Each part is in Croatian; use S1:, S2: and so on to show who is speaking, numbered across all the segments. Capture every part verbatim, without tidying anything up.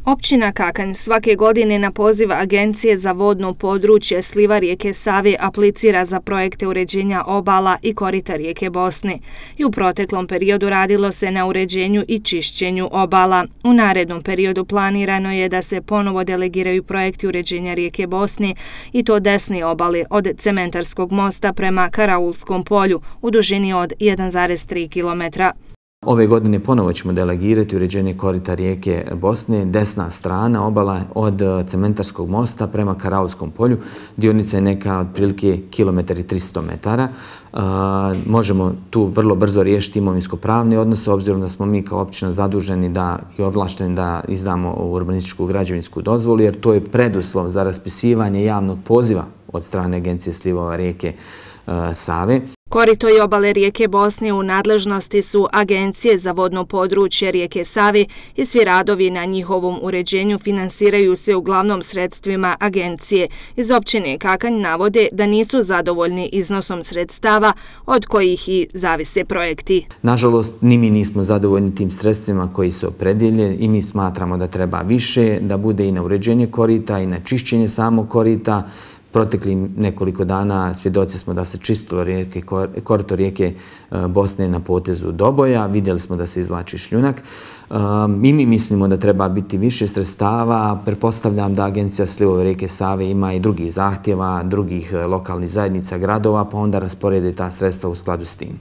S1: Općina Kakanj svake godine na poziv Agencije za vodno područje sliva rijeke Save aplicira za projekte uređenja obala i korita rijeke Bosne i u proteklom periodu radilo se na uređenju i čišćenju obala. U narednom periodu planirano je da se ponovo delegiraju projekti uređenja rijeke Bosne i to desne obale od Cementarskog mosta prema Karaulskom polju u dužini od jedan zarez tri kilometra.
S2: Ove godine ponovo ćemo delegirati uređenje korita rijeke Bosne, desna strana obala od Cementarskog mosta prema Karaulskom polju. Dionica je neka otprilike kilometar i tristo metara. Uh, možemo tu vrlo brzo riješiti imovinsko-pravne odnose, obzirom da smo mi kao općina zaduženi da i ovlašteni da izdamo urbanističku građevinsku dozvolu, jer to je preduslov za raspisivanje javnog poziva od strane Agencije slivova rijeke uh, Save.
S1: Korito i obale rijeke Bosne u nadležnosti su Agencije za vodno područje rijeke Save i svi radovi na njihovom uređenju finansiraju se uglavnom sredstvima agencije. Iz općine Kakanj navode da nisu zadovoljni iznosom sredstava od kojih i zavise projekti.
S2: Nažalost, ni mi nismo zadovoljni tim sredstvima koji se opredjelje i mi smatramo da treba više, da bude i na uređenje korita i na čišćenje samog korita. Protekli nekoliko dana svjedoci smo da se čistilo rijeke, korito rijeke Bosne na potezu Doboja. Vidjeli smo da se izvlači šljunak. I mi mislimo da treba biti više sredstava. Pretpostavljam da Agencija slivova rijeke Save ima i drugih zahtjeva, drugih lokalnih zajednica, gradova, pa onda rasporede ta sredstva u skladu s tim.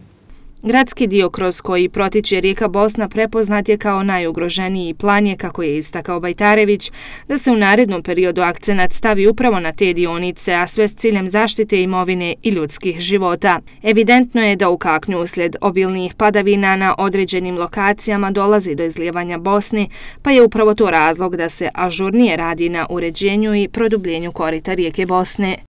S1: Gradski dio kroz koji protiče rijeka Bosna prepoznat je kao najugroženiji i plan je, kako je istakao Bajtarević, da se u narednom periodu akcenat stavi upravo na te dionice, a sve s ciljem zaštite imovine i ljudskih života. Evidentno je da u Kaknju uslijed obilnih padavina na određenim lokacijama dolazi do izlijevanja Bosne, pa je upravo to razlog da se ažurnije radi na uređenju i produbljenju korita rijeke Bosne.